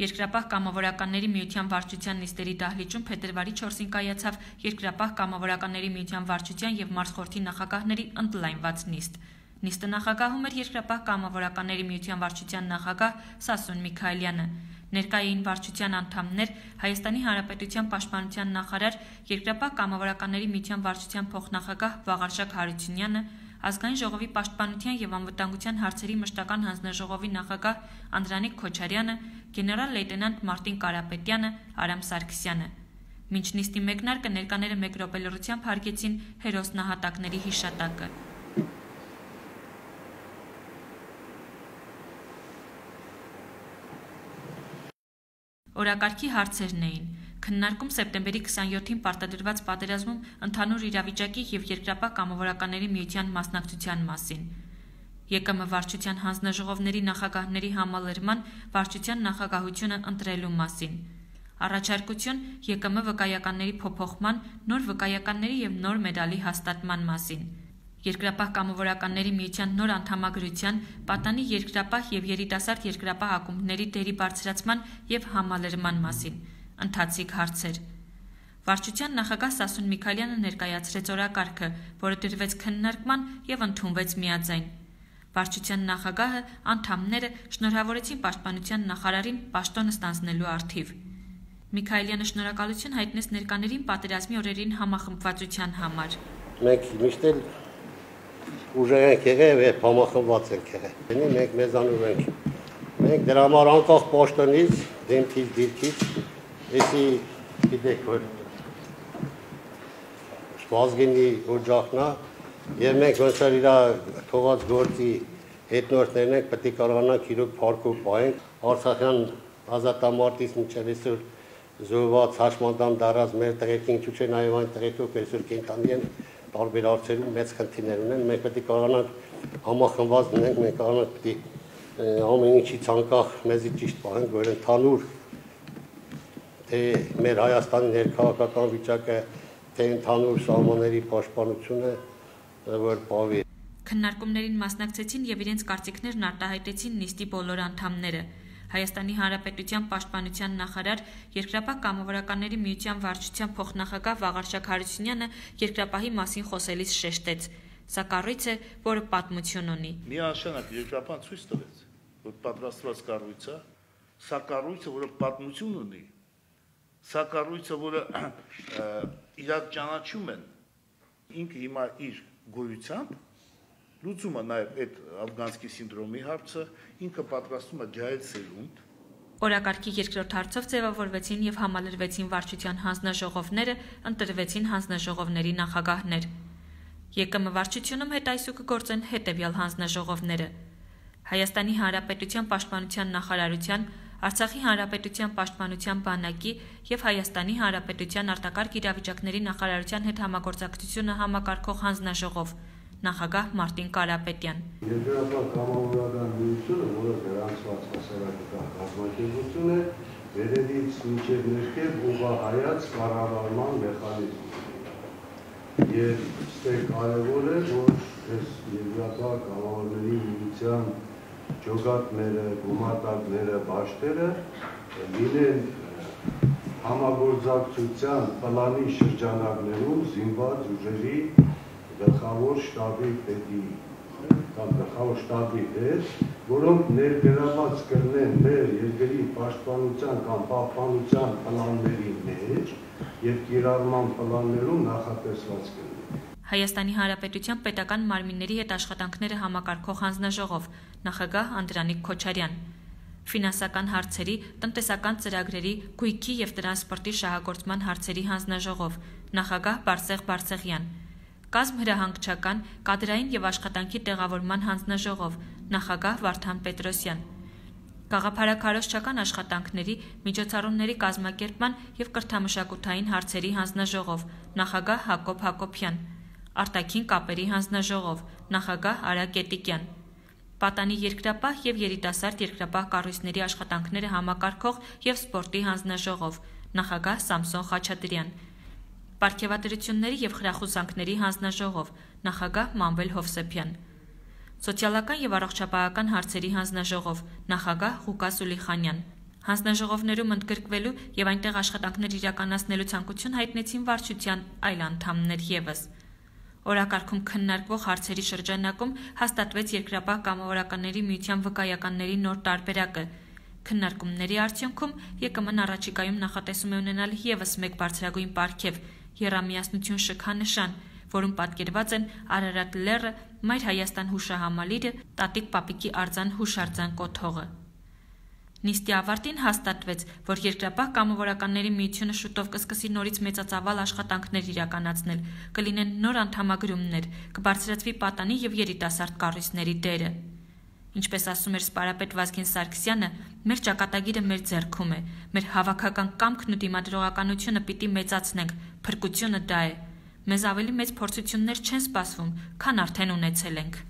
Երկրապահ կամավորականների միության վարչության նիստերի դահլիճում փետրվարի 4-ին կայացավ Երկրապահ կամավորականների միության վարչության եւ մարզխորհրդի նախագահների ընդլայնված նիստ։ Նիստը նախագահում էր Երկրապահ կամավորականների միության վարչության նախագահ Սասուն Միքայելյանը։ Ներկա էին վարչության անդամներ, Հայաստանի Հանրապետության պաշտպանության նախարար, Երկրապահ կամավորականների միության վարչության փոխնախագահ Վաղարշակ Հարությունյանը, Ազգային ժողովի պաշտպանության եւ անվտանգության հարցերի մշտական հանձնաժողովի նախագահ Անդրանիկ Քոչարյանը, գեներալ լեյտենանտ Մարտին Կարապետյանը, Արամ Սարգսյանը։ Մինչ նիստի մեկնարկը ներկաները մեկ րոպե լռությամբ հարգեցին հերոսնահատակների հիշատակը։ Օրակարգի հարցերն էին. քննարկում սեպտեմբերի 27-ին պարտադրված պատերազմում ընդհանուր իրավիճակի եւ Երկրապահ կամավորականների միության մասնակցության մասին, ԵԿՄ վարչության հանձնաժողովների նախագահների համալրման վարչության նախագահությունը ընտրելու մասին, առաջարկություն ԵԿՄ վկայականների փոփոխման, նոր վկայականների եւ նոր մեդալի հաստատման մասին, Երկրապահ կամավորականների միության նոր անդամագրության, պատանի երկրապահ եւ երիտասարդ երկրապահ ակումբների դերի բարձրացման եւ համալրման մասին, ընթացիկ հարցեր։ Վարչության նախագահ Սասուն Միքայելյանը ներկայացրեց օրակարգը, որը դրվեց քննարկման եւ ընդունվեց միաձայն։ Վարչության նախագահը անդամները շնորհավորեցին պաշտպանության նախարարին պաշտոնը ստանձնելու առթիվ։ Միքայելյանը շնորհակալություն հայտնեց ներկաներին պատերազմի օրերին համախմբվածության համար։ Մենք միշտ էլ ուժեղ ենք եղել եւ համախմբված ենք եղել։ Մենք մեզանով ենք։ Մենք դրա համար անկախ պաշտոնից, դեմքից, դիրքից, էսի գիտեք որ Շվազգինի օջախնա եւ մենք ոնց որ իր թողած գործի հետնորդներն ենք, պետք է կարողանանք իրոք փառքով պահենք Արցախյան ազատամարտից մինչև այսօր զոհված հաշմանդամ դարած մեր տղերքին ինչու՞ չէ նաեւ այն տղերքով այսօր կենթանի են տարբեր հարցերում մեծ խնդիրներ ունեն, մենք պետք է կարողանանք համախմբված լինենք, մենք կարողանանք պետք է ամեն ինչից անկախ մեզի ճիշտ պահենք, որ ընդհանուր թե մեր Հայաստանի ներքաղաքական վիճակը, թե ընդհանուր սահմանների պաշտպանությունը, որ պահվի։ Քննարկումներին մասնակցեցին եւ իրենց կարծիքներն արտահայտեցին նիստի բոլոր անդամները։ Հայաստանի Հանրապետության պաշտպանության նախարար, Երկրապահ կամավորականների միության վարչության փոխնախագահ Վաղարշակ Հարությունյանը երկրապահի մասին խոսելիս շեշտեց. Սա կառույց է, որը պատմություն ունի։ Միանշանակ Երկրապահն ցույց տվեց, որ պատրաստված կառույց է, սա կառույցը, որը պատմություն ունի, սա կառույցը, որը իրար ճանաչում են, ինքը հիմա իր գոյությամբ լուծում է նաև այդ աֆղանսկի սինդրոմի հարցը, ինքը պատրաստում է ջահել սերունդ։ Օրակարգի երկրորդ հարցով ձևավորվեցին եւ համալրվեցին վարչության հանձնաժողովները, ընտրվեցին հանձնաժողովների նախագահներ։ ԵԿՄ վարչությունում հետայսու կգործեն հետեւյալ հանձնաժողովները. Հայաստանի Հանրապետության պաշտպանության նախարարության, Արցախի Հանրապետության պաշտպանության բանակի եւ Հայաստանի Հանրապետության արտակարգ իրավիճակների նախարարության հետ համագործակցությունը համակարգող հանձնաժողով, նախագահ Մարտին Կարապետյան։ Երկրապահ կամավորական միությունը, որը գրանցված հասարակական կազմակերպություն է, վերևից մինչև ներքև ուղղահայաց կառավարման մեխանիզմ է։ Եվ ստեղ կարևոր է, որ այս երկրապահ կամավորների միության ջոկատները, գումարտակները, բաշտերը լինեն համագործակցության պլանի շրջանակներում զինված ուժերի գլխավոր շտաբի պետի կամ գլխավոր շտաբի հետ, որոնք ներգրաված կլինեն մեր երկրի պաշտպանության կամ պահպանության պլանների մեջ եւ կիրառման պլաններում նախատեսված կլինեն։ Հայաստանի Հանրապետության պետական մարմինների հետ աշխատանքները համակարգող հանձնաժողով, նախագահ Անդրանիկ Քոչարյան, ֆինանսական հարցերի, տնտեսական ծրագրերի, գույքի եւ տրանսպորտի շահագործման հարցերի հանձնաժողով, նախագահ Բարսեղ Բարսեղյան, կազմ հրահանգչական, կադրային եւ աշխատանքի տեղավորման հանձնաժողով, նախագահ Վարդան Պետրոսյան, գաղափարաքարոզչական աշխատանքների, միջոցառումների կազմակերպման եւ կրթամշակութային հարցերի հանձնաժողով, նախագահ Հակոբ Հակոբյան, արտաքին կապերի հանձնաժողով, նախագահ Արա Կետիկյան, պատանի երկրապահ եւ երիտասարդ երկրապահ կառույցների աշխատանքները համակարգող եւ սպորտի հանձնաժողով, նախագահ Սամսոն Խաչատրյան, պարգևատրությունների եւ խրախուսանքների հանձնաժողով, նախագահ Մանվել Հովսեփյան, սոցիալական եւ առողջապահական հարցերի հանձնաժողով, նախագահ Ղուկաս Ուլիխանյան, Հանձնաժողովներում ընդգրկվելու եւ այնտեղ աշխատանքներ իրականացնելու ցանկություն հայտնեցին վարչության այլ անդամներ եւս։ Օրակարգում քննարկվող հարցերի շրջանակում հաստատվեց Երկրապահ կամավորականների միության վկայականների նոր տարբերակը։ Քննարկումների արդյունքում ԵԿՄ-ն առաջիկայում նախատեսում է ունենալ եւս մեկ բարձրագույն պարգև՝ եռամիասնություն շքանշան, որում պատկերված են Արարատ լեռը, Մայր Հայաստան հուշահամալիրը, Տատիկ Պապիկի արձան հուշարձան կոթողը։ Նիստի ավարտին հաստատվեց, որ Երկրապահ կամավորականների միությունը շուտով կսկսի նորից մեծածավալ աշխատանքներ իրականացնել, կլինեն նոր անդամագրումներ, կբարձրացվի պատանի եւ երիտասարդ կառույցների դերը։ Ինչպես ասում էր սպարապետ Վազգեն Սարգսյանը, մեր ճակատագիրը մեր ձեռքում է, մեր հավաքական կամքն ու դիմադրողականությունը պիտի մեծացնենք, փրկությունը դա է։ Մեզ ավելի մեծ փորձություններ չեն սպասվում, քան արդեն ունեցել ենք։